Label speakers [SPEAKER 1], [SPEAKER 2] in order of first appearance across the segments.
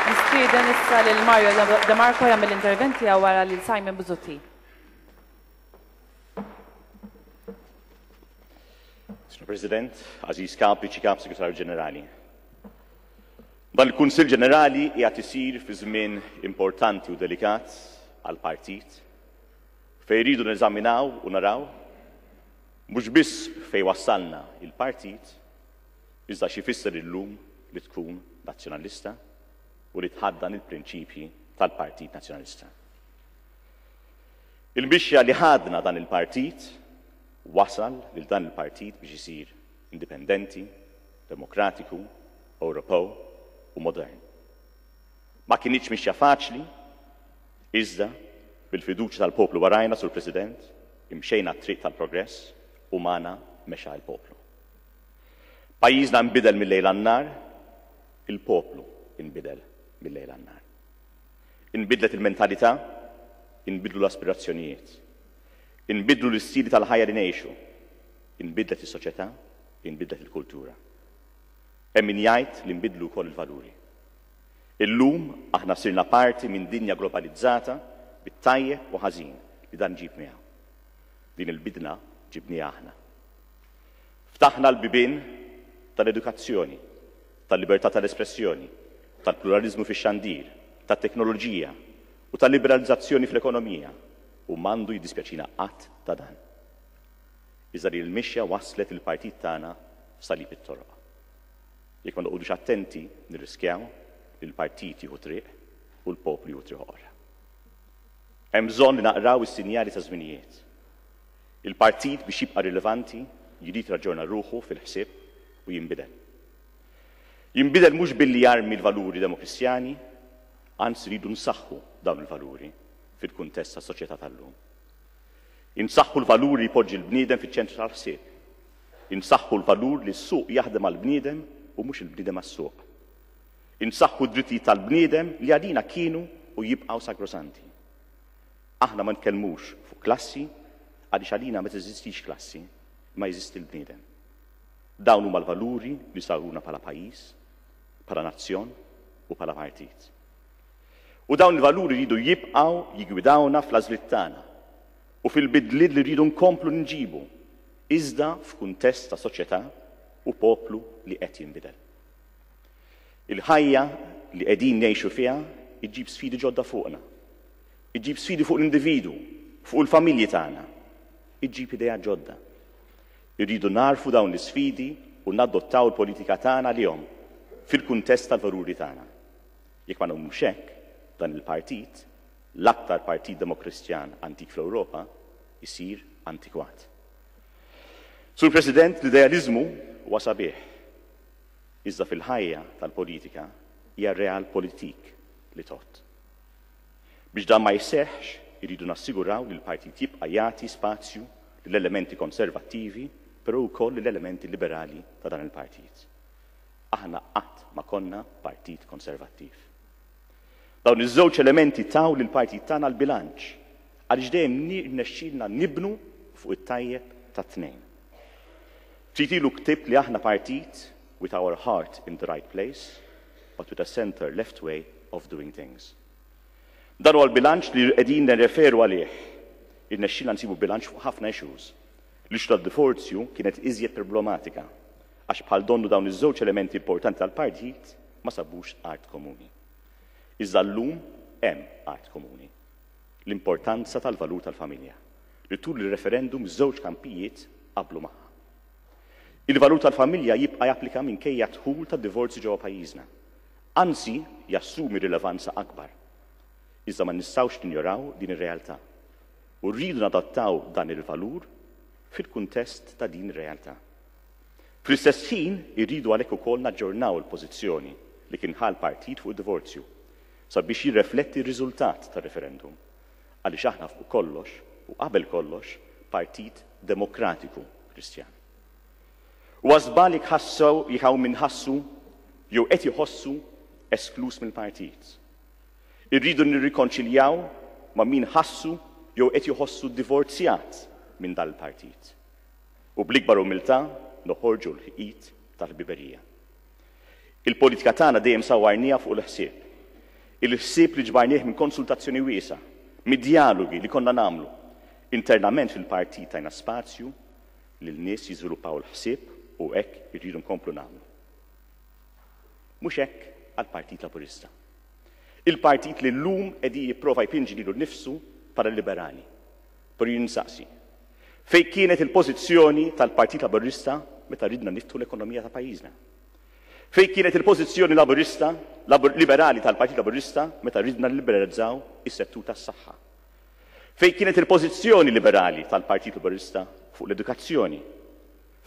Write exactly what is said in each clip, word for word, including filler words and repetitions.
[SPEAKER 1] Nistieden issa lil Mario De Marco jagħmel l-intervent tiegħu wara lil Simon Busuttil.
[SPEAKER 2] Signor President, Aziz Kap, Viċi Kap, Segretarju Ġenerali. Dan il-Kunsill Ġenerali qiegħed isir fi żmien importanti u delikat għall-partit fejn rridu neżaminaw u naraw mhux biss fejn wassalna il-partit, iżda xi jfisser illum li tkun nazzjonalista u li tħaddan il-prinċipji tal-Partit Nazzjonalista. Il-mixja li ħadna dan il-partit wasal lil dan il-partit biex isir indipendenti, demokratiku, Ewropew u modern. Ma kinitx mixja faċli, iżda bil-fiduċja tal-poplu warajna, Sur President, imxejna t-triq tal-progress u magħna mexa l-poplu. Pajjiżna nbidel mill-lejl għan-nhar, il-poplu nbidel mill-lejl għan-nhar. Inbidlet il-mentalità, inbidlu l-aspirazzjonijiet, inbidlu l-istili tal-ħajja li ngħixu, inbidlet is-soċjetà, inbidlet il-kultura. Hemm min jgħid li nbidlu wkoll il-valuri. Illum aħna sirna parti minn dinja globalizzata bit-tajjeb u ħażin li dan ġib miegħu. Din il-bidla ġibniha aħna. Ftaħna l-bibien tal-edukazzjoni, tal-libertà tal-espressjoni, tal-pluralizmu fix-xandir, tat-teknoloġija u tal-liberalizzazzjoni fl-ekonomija u m'għandu jiddispjaċina qatt ta' dan. Iżda li l-mixja waslet il-partit tagħna f'salib it-toroq. Jekk ma noqogħdux attenti nirriskjaw li l-partit jieħu triq u l-poplu jieħu triq oħra. Hemm bżonn li naqraw is-sinjali ta' żminijiet. Il-partit biex jibqa' rilevanti jrid raġġorna ruħu fil-ħsieb u jinbidel. Jinbidel mhux billi jarmi l-valuri demokristjani, anzi rridu nsaħħu dawn il-valuri fil-kuntest tas-soċjetà tal-lum. Insaħħu l-valuri jpoġġi l-bniedem fiċ-ċentru tal-ħsieb. Insaħħu l-valur li s-suq jaħdem għall-bniedem u mhux il-bniedem għas-suq. Insaħħu d-drittijiet tal-bniedem li għalina kienu u jibqgħu sagrosanti. Aħna ma nitkellmux fuq klassi għaliex għalina ma teżistix klassi, ma jeżisti l-bniedem. Dawn huma l-valuri li saruna bħala pajjiż, bħala nazzjon u bħala partit. U dawn il-valuri rridu jibqgħu jiggwidawna fl-għażliet tagħna u fil-bidliet li rridu nkomplu nġibu, iżda f'kuntest ta' soċjetà u poplu li qed jinbidel. Il-ħajja li qegħdin ngħixu fiha iġġib sfidi ġodda fuqna. Iġġib sfidi fuq l-individu, fuq il-familji tagħna. Iġġib idea ġodda. Irridu narfu dawn l-isfidi u nadottaw il-politika tagħna lihom fil-kuntest tal-valuri tagħna. Jekk ma nagħmlux hekk, dan il-partit, l-aktar partit demokristjan antik fl-Ewropa, isir antikwat. Sur President, l-idealizmu huwa sabiħ. Iżda fil-ħajja tal-politika hija realpolitik li tgħodd. Biex dan ma jseħħx, irridu nassiguraw li l-partit jibqa' jagħti spazju lill-elementi konservattivi, però wkoll lill-elementi liberali ta' dan il-partit. Aħna qatt ma konna partit konservattiv. Dawn iż-żewġ elementi taw lill-partit tagħna l-bilanċ għaliex dejjem nirnexxielna nibnu fuq it-tajjeb tat-tnejn. Ftit ilu ktibt li aħna partit with our heart in the right place, but with a center left way of doing things. Dan huwa l-bilanċ li qegħdin nirreferu għalih. Irnexxielna nsibu bilanċ fuq ħafna issues. L-issue tad-divorzju kienet iżjed problematika għax bħal donnu dawn iż-żewġ elementi importanti tal-partit ma sabux art komuni. Iżda llum hemm art komuni. L-importanza tal-valur tal-familja li tul il-referendum żewġ kampijiet qablu magħha. Il-valur tal-familja jibqa' japplika minkejja dħul ta' divorzju ġewwa pajjiżna. Anzi, jassumi rilevanza akbar. Iżda ma nistgħux ninjoraw din ir-realtà. U rridu nadattaw dan il-valur fil-kuntest ta' din ir-realtà. Fl-istess ħin irridu għalhekk ukoll naġġornaw il-pożizzjoni li kien ħa l-partit fuq id-divorzju sabiex jirrefletti r-riżultat tar-referendum. Għaliex aħna fuq kollox u qabel kollox partit demokratiku Kristjan. U għażbal jekk ħassew jekk hawn min ħassu jew qed iħossu esklus mill-partit. Irridu nirrikonċiljaw ma' min ħassu jew qed iħossu divorzjat minn dal-partit. U bl-ikbar umiltà noħorġu l-ħit tal-ħbiberija. Il-politika tagħna dejjem sawwarniha fuq il-ħsieb. Il-ħsieb li ġbarnieh minn konsultazzjoni wiesgħa, mid-djalogi li konna nagħmlu. Internament fil-partit tajna spazju li l-nies jiżviluppaw il-ħsieb u hekk irridu nkomplu nagħmlu. Mhux hekk għall-Partit Laburista. Il-partit li llum qegħdin jipprova jpinġi lilu nnifsu bħala liberali. Però jien nsaqsi, fejn kienet il-pożizzjoni tal-Partit Laburista meta ridna niftħu l-ekonomija ta' pajjiżna? Fejn kienet il-pożizzjoni laburista, labur, liberali tal-Partit Laburista meta ridna nliberalizzaw is-settur tas-saħħa? Fejn kienet il-pożizzjoni liberali tal-Partit Laburista fuq l-edukazzjoni,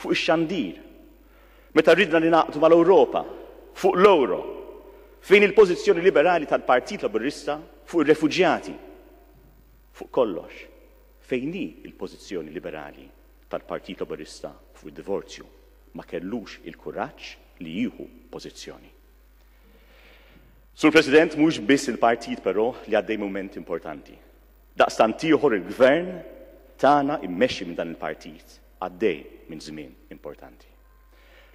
[SPEAKER 2] fuq ix-xandir, meta ridna ningħaqdu mal-Ewropa, fuq l-euro? Fejn il-pożizzjoni liberali tal-Partit Laburista fuq ir-refuġjati? Fuq kollox, fejn hi l-pożizzjoni liberali tal-Partit Laburista fuq id-divorzju? Ma kellux il-kuraġġ li jieħu pożizzjoni. Sur President, mhux biss il-partit però li għaddej mument importanti. Daqstant ieħor il-gvern tagħna immexxi minn dan il-partit għaddej minn żmien importanti.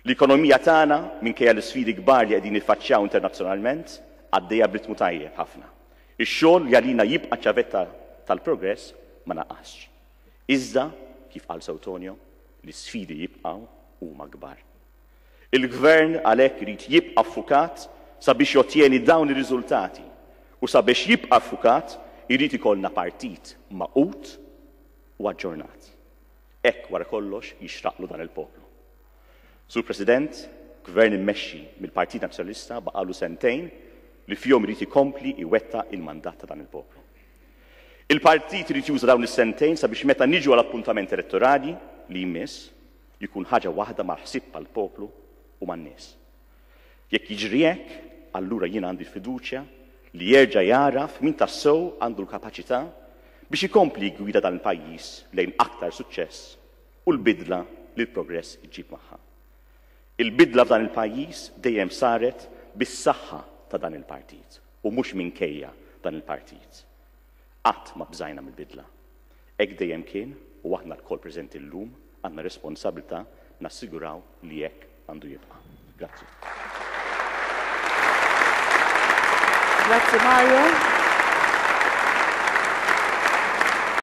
[SPEAKER 2] L-ekonomija tagħna, minkejja l-isfidi kbar li qegħdin niffaċċjaw internazzjonalment, għaddejja b'ritmu tajjeb ħafna. Ix-xogħol li għalina jibqa' ċavetta tal-progress ma naqasx. Iżda, kif qal sew Tonio, l-isfidi jibqgħu huma kbar. Il-gvern għalhekk irid jibqa' ffukat sabiex jottjeni dawn ir-riżultati u sabiex jibqa' ffukat irid ikollna partit magħqud u aġġornat. Hekk wara kollox jixraqlu dan il-poplu. Sur President, gvern immexxi mill-Partit Nazzjonalista baqalu sentejn li fihom irid ikompli iwettaq il-mandat ta' dan il-poplu. Il-partit irid juża dawn is-sentejn sabiex meta niġu għal appuntament elettorali li jmiss jkun ħaġa waħda mal-ħsieb tal-poplu u man-nies. Jekk jiġri hekk, allura jien għandi fiduċja li jerġa' jaraf min tassew għandu l-kapaċità biex ikompli jgwida dan il-pajjiż lejn aktar suċċess u l-bidla li l-progress iġib magħha. Il-bidla f'dan il-pajjiż dejjem saret bis-saħħa ta' dan il-partit u mhux minkejja dan il-partit. Qatt ma bżajna mill-bidla. Hekk dejjem kien u aħna lkoll preżenti llum għandna responsabilità nassiguraw li hekk għandu jibqa'. Grazzi.
[SPEAKER 1] Grazzi Mario.